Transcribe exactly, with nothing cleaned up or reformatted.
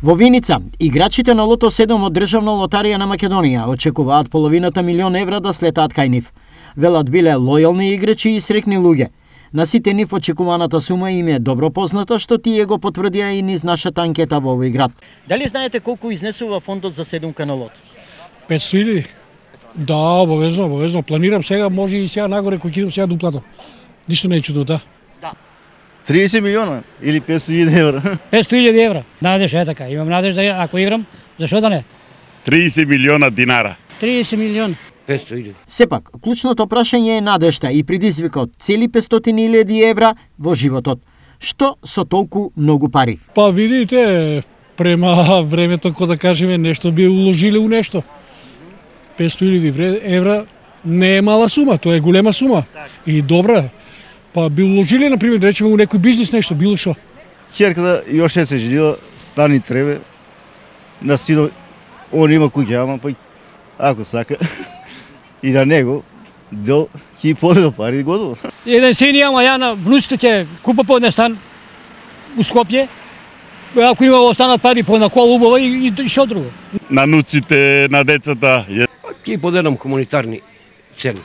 Во Виница, играчите на Лото седум од Државна лотарија на Македонија очекуваат половината милион евра да слетаат кај нив. Велат биле лојални играчи и срекни луѓе. На сите нив очекуваната сума им е добро позната, што тие го потврдија и низ нашата анкета во овој град. Дали знаете колку изнесува фондот за седумка на Лото? петстотини илјади. Да, обавезно, обавезно. Планирам сега, може и сега нагоре кој ќе идам сега да уплатам. Ништо не е чудно, да. триесет милиона или петстотини илјади евра. петстотини илјади евра. Надеж е така. Имам надеж да ако играм, зашо да не? триесет милиона динара. триесет милион. петстотини илјади. Сепак, клучното прашање е надежта и предизвикот цели петстотини илјади евра во животот. Што со толку многу пари? Па видите, према времето, кој да кажеме, нешто би уложиле у нешто. петстотини илјади евра не е мала сума, тоа е голема сума. И добра. Па би уложиле, например, да речеме у некој бизнис нешто, било што. Херката још не се женила, стани требе. На сино, он има куќа, ама па ако сака и на него дел ќе подел пари и готово. Еден син ама ја на внуците ќе купа по еден стан у Скопје. Ако има останат пари по една кола убава и, и што друго. На нуците, на децата. Ќе подедам хуманитарни цели.